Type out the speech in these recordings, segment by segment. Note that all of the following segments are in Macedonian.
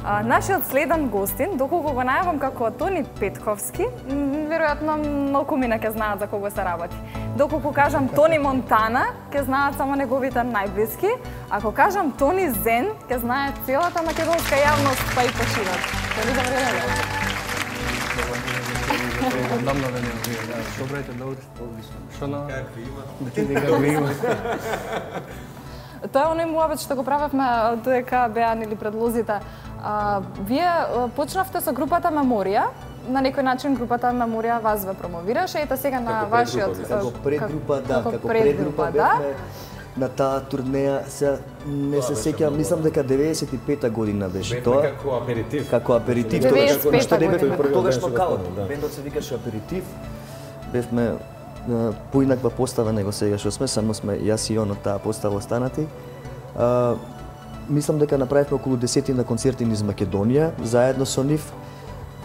Нашиот следен гостин, доколку го најавам како Тони Петковски, веројатно малку мина ќе знаат за кого се работи. Доколку кажам Тони Монтана, ќе знаат само неговите најблиски. Ако кажам Тони Зен, ќе знае целата македонска јавност, па и почиват. Тони, добре дојде. Одамна веќе вие, да. Добре, добре. Што на какви има? Какви има? Тоа е оној муабет што го правевме додека беа нели предлозите. Вие почнавте со групата Меморија, на некој начин групата Меморија вас ве промовираше, ете сега на вашиот како предгрупа, да, како предгрупа бевме на таа турнеја, се не се сеќавам, мислам дека 95-та година беше тоа. Како аперитив. Како аперитив, што не бевме тогаш нокаут. Бендот се викаше Аперитив. Бевме поинаква постава него сега што сме, само сме јас и он од таа постава останати. Мислам дека направивме околу 10 концерти низ Македонија, заедно со нив.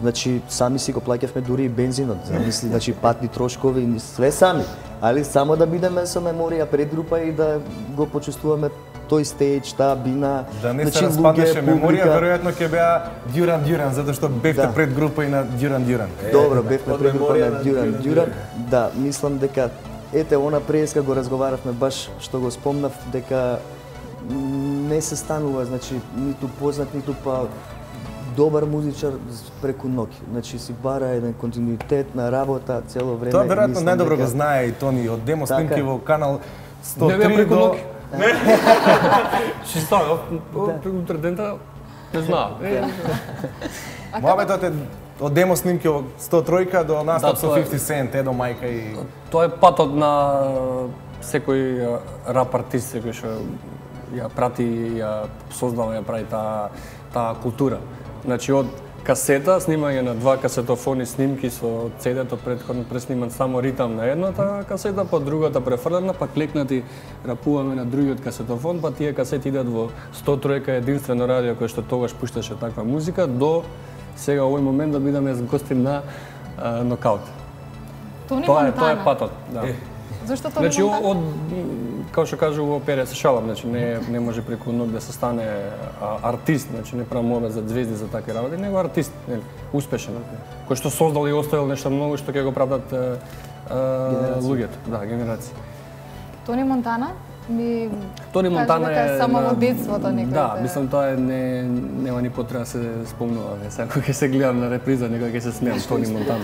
Значи, сами си го плаќавме дури и бензинот, значи патни трошкови, све сами. Али само да бидеме со Меморија предгрупа и да го почувствуваме тој стејдж, таа бина, да не се распаднеше Меморија, веројатно ќе беа Дюран, затоа што бевте предгрупа и на Дюран. Добро, бевме предгрупа на Дюран. Да, мислам дека ете она преска го разговаравме баш што го спомнав дека не се станува, значи ниту познат, ниту па добар музичар преку ноќ. Значи си бара еден континуитет на работа цело време. Тоа веројатно најдобро го знае и Тони од демо снимки во канал 103 до Ши става, утре дента, не знам. Муабетот е од демо снимки во 103 до настап со 50 Cent, Едо Мајка и... Тоа е патот на секој рап артист, секој што ја прати, ја создава, ја прави таа култура. Значи од касета, снимање на 2 касетофони снимки со CD-то претходно пресниман само ритам на едната касета, па другата префрлена, па клекнати рапуваме на другиот касетофон, па тие касети идат во 103 единствено радио кој што тогаш пушташе таква музика до сега овој момент да бидеме гостин на нокаут. Тоа е патот, да. Зошто Тони Монтана? Значи од како што кажу во оперија се шалам, значи не може преку ног да се стане артист, значи не правам мове за звезди за такви работи, него артист, нели, успешен, кој што создал и оставил нешто многу што ќе го правдат луѓето, да, генерации. Тони Монтана? Тони Монтана е само во детството некој. Да, мислам тоа е нема ни потреба да се спомнува, сега ќе се гледам на реприза, некој ќе се смеам Тони Монтана.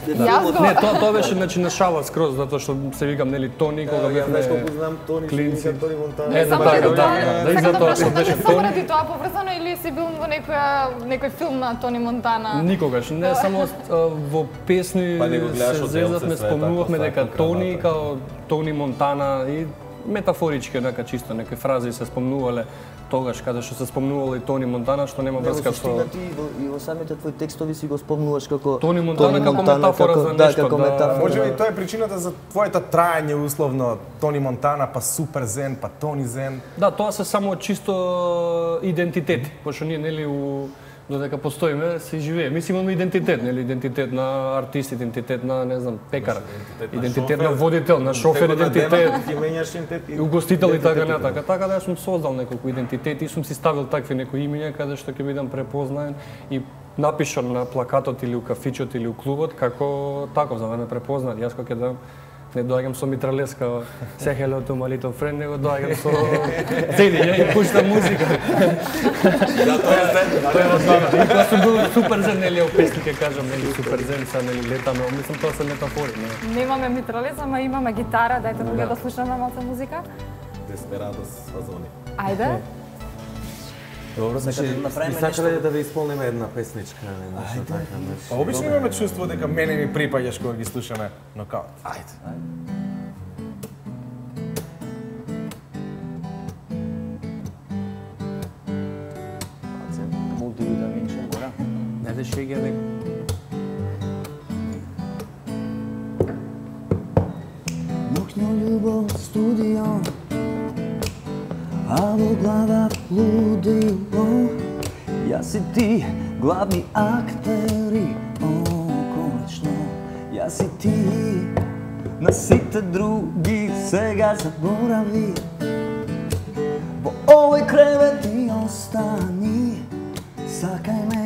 Не, тоа беше значи на шала скроз, затоа што се викам нели Тони кога бевме знам Тони, клинци. Тони Монтана. Да, и затоа што беше Тони. Само тоа поврзано или си бил во некој филм на Тони Монтана? Никогаш, не само во песни се зезавме, спомнувавме дека Тони као Тони Монтана и метафорички, нека чисто некои фрази се спомнувале тогаш каде што се спомнувало и Тони Монтана, што нема врска со и во самите твои текстови си го спомнуваш како Тони Монтана како метафора за нешто. Можеби тоа е причината за твоето траење условно Тони Монтана, па Супер Зен, па Тони Зен. Да, тоа се само чисто идентитет, пошто ние нели додека постоиме се живее. Мислам имаме идентитет, нели идентитет на артист, идентитет на не знам пекар, идентитет на водител, на шофер, идентитет. И угостител и така натака. Така да сум создал неколку идентитети и сум си ставил такви некои имиња каде што ќе бидам препознаен и напишан на плакатот или у кафичот или у клубот како таков за да ме препознаат. Јас кога ќе дам не доаѓам со митралеска, say hello to my little friend, него доаѓам со цели, ја и пуштам музика. Да, тоа е основа. И тоа сум бил Супер Зен, нели, о песни ќе кажам, нели, Супер Зен, са, нели, летаме, мислам, тоа се метафори. Немаме митралез, ама имаме гитара, дајте му да слушаме малку музика. Деспирадос фазони. Ајде. Добро, значи, сакале да ви исполниме една песничка, нешто така, нешто. Обично имаме чувство дека мене ми припаѓаш кога ги слушаме нокаут. Ајде. Multivitamin гора. Не да шега дека Ноќно љубов студио, а во глава лудило. Јас и ти главни актери, конечно. Јас и ти на сите други сега заборави. Во овој кревет ти остани Сакај ме,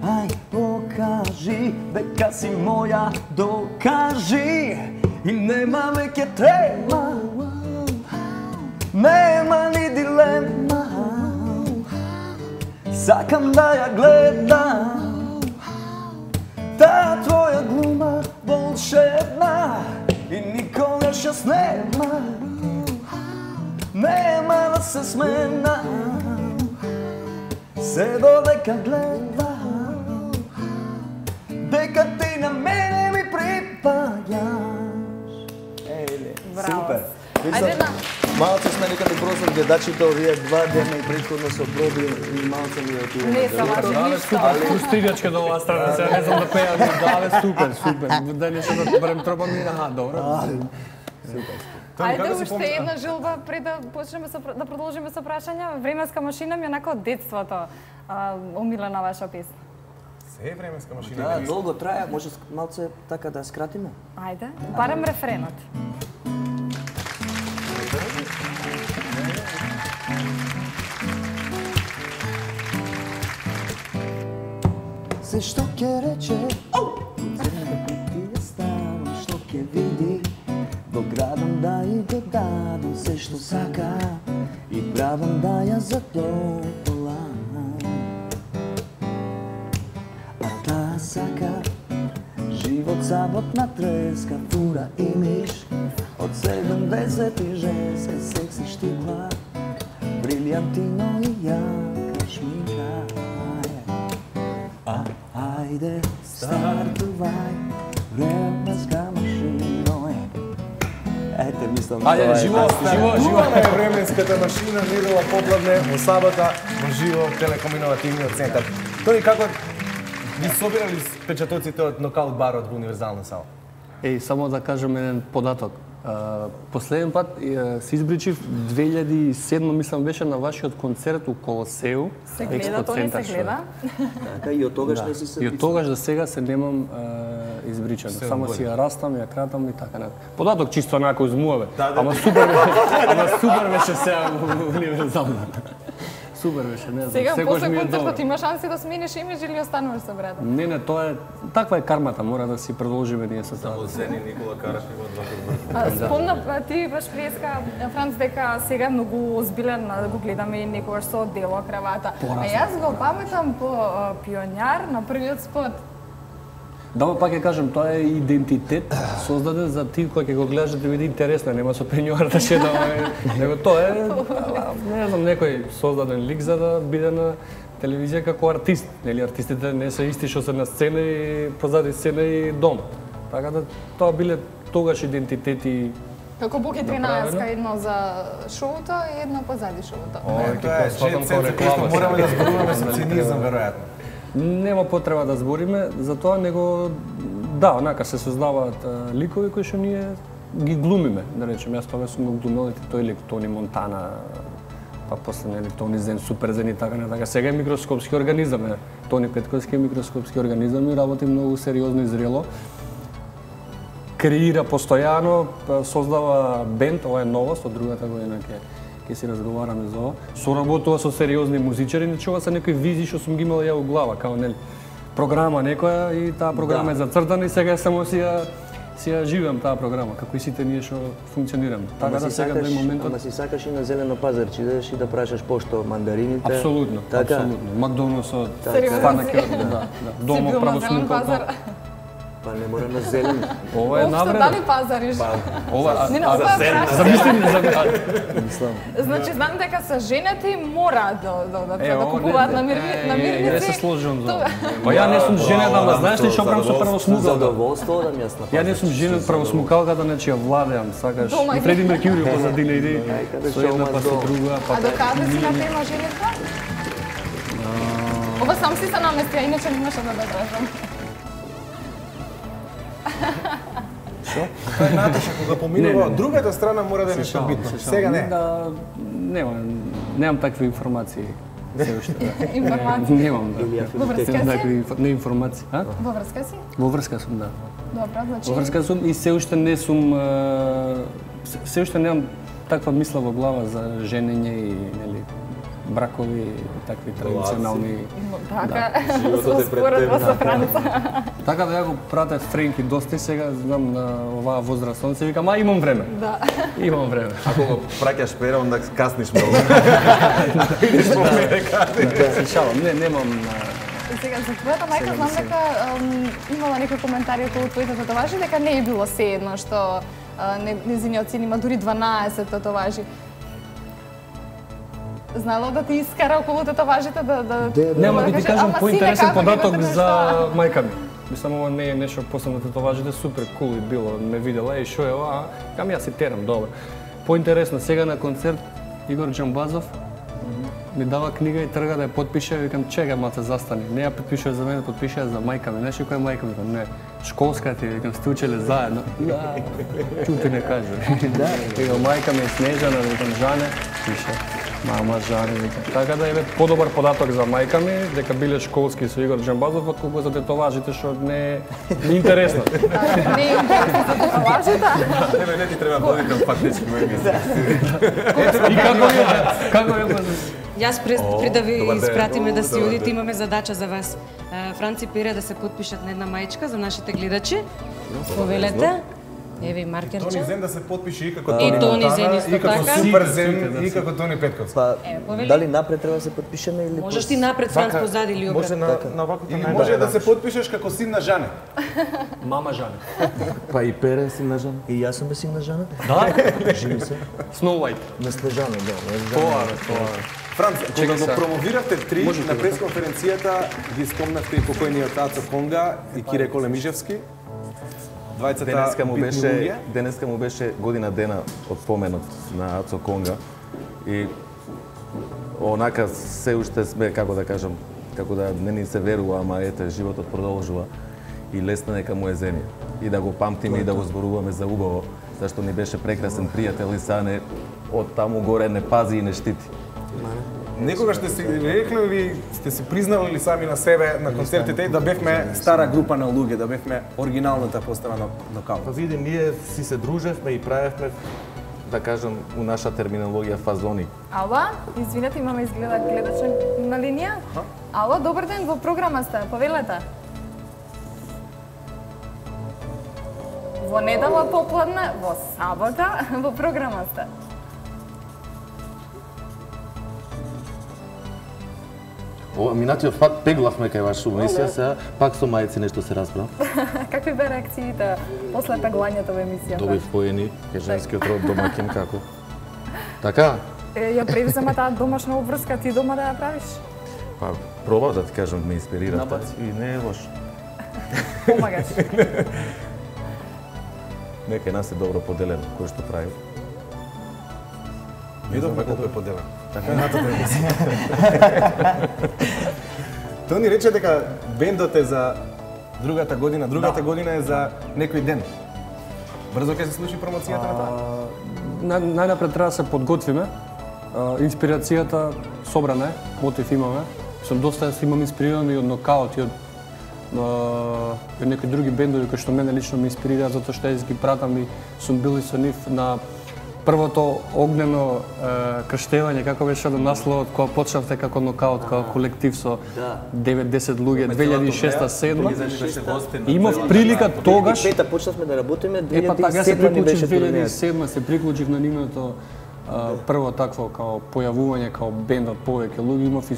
ај покажи, дека си моја, докажи. И нема веќе трема, нема ни дилема. Сакам да ја гледам, таа твоја глума волшебна. И никогаш јас нема да се смена. Се додека гледам, дека ти на мене ми припаѓаш. Супер. Ајде на... Малце сме некаде просот гледачите овие 2 дена и претходно се оброби и малце ми отидува. Не сама ништо. Пустигачка до оваа страница, не знам да пеам, да, супер. Да не се да барем тропа ми, добро. Супер. Ајде уште една жилба пред да почнеме да продолжиме со прашања. Временска машина ми е онака од детството омилена ваша песна. Се временска машина. Да, долго трае, може малце така да скратиме. Ајде, барем рефренот. Се што ќе рече, ти ја ставам, што ќе види, во градам да и го дадам се што сака и правам да ја задоволам. А таа сака живот саботна треска, фура и миш, од 70 и женска, секси штипла, брилјантино и јака шминка. Ајде, стартувај, временска машина. Ете, мислам, ајде, живо. Е временската машина недела попладне во сабота во живо телекомуникативниот центар. Тони, како ги собирали впечатоците од нокаут барот во Универзална сала? Само да кажем еден податок. Последен пат се избричив 2007, мислам, беше на вашиот концерт у Колосеу. Се гледа, то не се гледа. Така и од тогаш не си се... И од тогаш до сега се немам избричано. Само си ја растам, ја кратам и така натаму. Податок чисто онако измуваме. Ама супер беше сега во Универзална. Супер беше, не знам. Сега секогаш после ми е концертот добро. има шанси да смениш имидж или остануваш со брата? Не, тоа е таква е кармата, мора да си продолжиме ние со тоа. Само Зени Никола Караш има 2 Спомнав ти баш преска Франц дека сега е многу озбилен да го гледаме и некогаш со дело кравата. А јас го паметам по Пионер на првиот спот. Да, пак ќе кажем, тоа е идентитет создаден за ти кој ќе го гледаш да биде интересно, нема со пенјуар да шедаме, него тоа е, не знам, некој создаден лик за да биде на телевизија како артист. Нели артистите не се исти што се на сцена и позади сцена и дом. Така да тоа биле тогаш идентитети. Како Боки 13, едно за шоуто и едно позади шоуто. Тоа е че мораме да зборуваме со цинизам веројатно. Нема потреба да збориме за тоа, него да, онака се создаваат ликови кои што ние ги глумиме, да речем. Јас тоа сум го глумел тој лик Тони Монтана, па после нели Тони Зен, Супер Зен и така натака. Сега е микроскопски организам, Тони Петковски е микроскопски организам и работи многу сериозно и зрело. Креира постојано, создава бенд, ова е новост, од другата година ќе си разговараме за ова. Соработува со сериозни музичари, нечува се некои визии што сум ги имал ја во глава, као нели програма некоја и таа програма е зацртана и сега само си ја живеам таа програма, како и сите ние што функционираме. Така да сега до моментот. Ама си сакаш и на зелено пазарче, идеш и да прашаш пошто мандарините. Апсолутно, така? апсолутно. Макдоналдсот, Сериозно станаке, си? да. Дома правосмукал. Па не мора на зелено. Ова е Општо навреда. дали пазариш? Ова, Не, ова е прашање. замисли, Мислам. Значи, знам дека се женети мора да ова купуваат не намирници. Не се сложувам за ова. Па ја не сум женет, ама знаеш ли што правам со правосмукалка? Задоволство да ми јас Ја не сум женет правосмукалката, значи ја владеам, сакаш. Дома И Фреди Меркјури позадина иди, каде со една шоу па со мас друга, па А докаде си на тема женетка? Ова сам си се намести, а иначе немаше да прашам. Тоа е Наташа кога поминува од другата страна мора да е нешто битно. Сега не. Да, немам такви информации. Се уште, да. Информации? Немам, да. Во врска Немам си? такви не информации, а? Во врска си? Во врска сум, да. Добро, значи... Во врска сум и се уште не сум се уште немам таква мисла во глава за женење и нели бракови, такви традиционални. Така, споредба со Франца. Така да ја го пратев Френки доста и сега знам на оваа возраст, он се вика, ма имам време. Да. Имам време. Ако го праќаш пера, онда касниш многу. Се шалам, немам. Сега за твојата мајка знам дека имала некои коментари околу твоите татуажи, дека не е било се едно што незиниот син има дури 12 татуажи. Знало да ти искара околу татуажите да Нема да ти кажам поинтересен податок имате за нешто? мајка ми. Мислам, ова не е нешто посебно татуажите, супер кул и било, ме видела и шо е ова, кам јас си терам, добро. Поинтересно, сега на концерт Игор Џамбазов ми дава книга и трга да ја подпише, викам чекај малце застани. Не ја подпишува за мене, подпишува за мајка ми. Знаеш која е мајка ми? Викам не. Школска ти, викам сте учеле заедно. Чути не кажа. Викам мајка ми е Снежана, викам Жане, пише. Мама Жане, викам. Така да е подобар податок за мајка ми, дека биле школски со Игор Џамбазов, отколку за татуажите што не е интересно. Не е интересно за татуажите. Не ти треба подитам фактички мој И како е Јас пред да ви испратиме да си одите, имаме задача за вас. Франци Пере да се потпишат на една мајчка за нашите гледачи. Повелете. Еве и маркерче. Тони Зен да се потпише и како И Тони Тони Монтана, Зен исто и како така. Супер Зен, и како Тони Петковски. Па, повели. дали напред треба да се потпишеме или Можеш ти напред, Франц, позади или Може обратно. на ваквото Или може да се потпишеш како син на Жане. Мама Жане? Па и Пере си нажан. И јас сум син на Жана? Да? Живи се. Snow White. На Снежана, да. Тоа, тоа. Франц, кога го сега. промовиравте три на пресконференцијата, ги спомнавте и покојниот Ацо Конга и Кире Колемижевски. Двајцата Денеска му беше година дена од споменот на Ацо Конга и онака се уште сме, како да кажам, како да не ни се верува, ама ете, животот продолжува и лесно нека му е земја. И да го памтиме и да го зборуваме за убаво, зашто ни беше прекрасен пријател и сане од таму горе не пази и не штити. Некогаш сте си рекли или сте си признали ли сами на себе на концертите да бевме стара група на луѓе, да бевме оригиналната постава на Нокаут? Па види, ние си се дружевме и правевме, да кажам, у наша терминологија фазони. Ало, извинете, имаме изгледа гледач на линија. Ало, добар ден, во програма сте, повелете. Во недела попладне, во сабота, во програма сте. Ова минатиот пат пеглавме кај ваша емисија, сега пак со мајци нешто се расправ. Какви бе реакциите после пеглањето во емисијата? Добив поени, кај женскиот род домакин како. Така? Ја превзема таа домашна обврска, ти дома да ја правиш? Па пробав да ти кажам, ме инспирирате и не е лошо. Помагаш. Нека нас е добро поделено кој што прави. Видовме колку е поделен. Така натата емисија. Тони рече дека бендот е за другата година е за некој ден. Брзо ќе се случи промоцијата на тоа? Најнапред треба да се подготвиме. Инспирацијата собрана е, мотив имаме. Сум доста имам инспириран и од Нокаут и од некои други бендови кои што мене лично ме инспирираат затоа што јас ги пратам и сум бил и со нив на првото огнено крштевање, како беше насловот кога почнавте како Нокаут, како колектив со 9-10 луѓе, 2006-2007. Имав прилика тогаш. 2005 почнавме да работиме, Јас се 2007 ни беше приклучив турнејата. 2007 се приклучив на нивното прво такво као појавување као бенд од повеќе луѓе, имав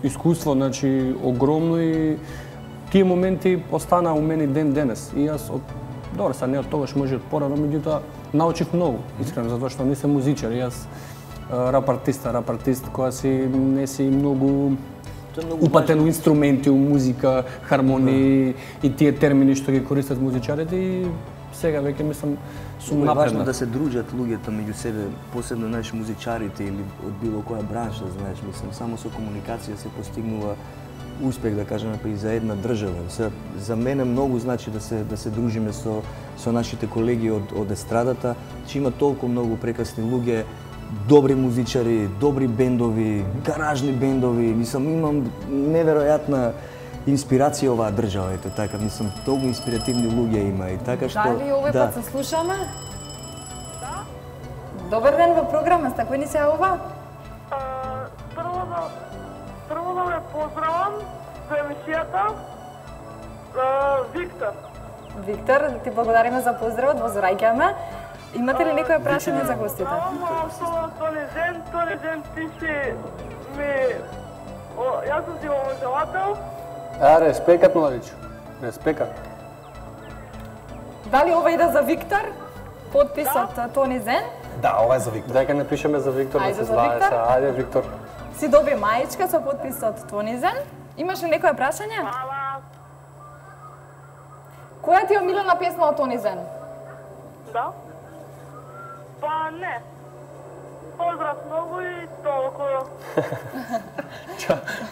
искуство, значи огромно и тие моменти останаа у мене ден денес. И јас добро, са не од тогаш, може од порано, меѓутоа научив многу, искрено, затоа што не сум музичар, јас рап артист која си не си многу упатен у инструменти, у музика, хармонии и тие термини што ги користат музичарите и сега веќе мислам сум Важно напреднат. да се дружат луѓето меѓу себе, посебно знаеш музичарите или од било која бранша, знаеш, мислам, само со комуникација се постигнува успех, да кажеме, па и за една држава. За мене многу значи да се дружиме со нашите колеги од естрадата, че има толку многу прекрасни луѓе, добри музичари, добри бендови, гаражни бендови, мислам, имам неверојатна инспирација оваа држава, ете така, мислам, толку инспиративни луѓе има и така што... Дали овој пат се слушаме? Да. Добар ден во програма, сте, кој ни се јавува? Прво поздравам за емисијата. Виктор. Виктор, ти благодариме за поздравот, возвраќаме. Имате ли некоја прашање за гостите? Тони Зен, ти си ми... Јас сум ти обожавател. Респекат, младичу. Респекат. Дали ова иде за Виктор? Подписот Тони Зен? Да, ова е за Виктор. Дека не пишеме за Виктор, да Ајде се за знае Виктор. се. Ајде, Виктор. Си доби мајчка со подписот Тони Зен. Имаш ли некоја прашање? Која ти е омилена песма од Тони Зен? Да. Па не. Поздрав многу и толку.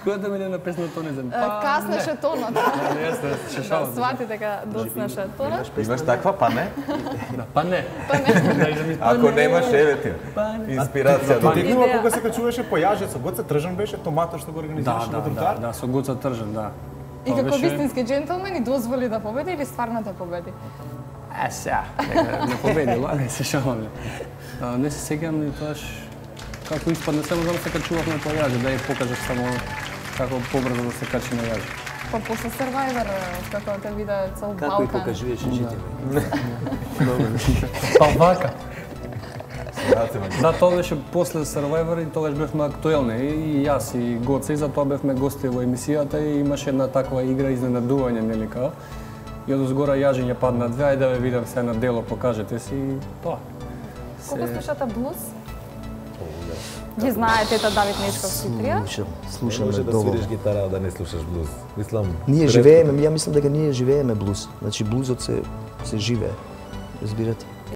Која да ми не написна Тони Зен? Каснеше тонот. Јесте, шешавам. Свати дека доцнеше тонот. Имаш таква, па не? Па не. Ако немаш, еве ти. Инспирација. Ти текнува кога се качуваше по јажецот, Гоце Тржан беше томатот што го организираше на тротоар? Да, со Гоце Тржан, да. И како вистински джентълмен и дозволи да победи или стварно да победи? Сега, не победи, ладно, се шаламе. Не се сеќавам ни тоаш како испадне, само да се качувавме по јаже, да ја покажеш само како побрзо да се качи на јаже. Па после Survivor, како те виде цел Балкан. Како и покажуваш житиве. Па вака. Да, тоа беше после Survivor и тогаш бевме актуелни и јас и Гоце и затоа бевме гости во емисијата и имаше една таква игра изненадување, нели као. И од озгора јажење падна две, ајде да ве видам се на дело, покажете си и тоа. Колку слушате блуз? Ги знае тета Давид Нешковски трио? Слушаме Може да доволно. свириш гитара, да не слушаш блуз. Мислам, Ние живееме, ја мислам дека ние живееме блуз. Значи блузот се живее. Разбирате?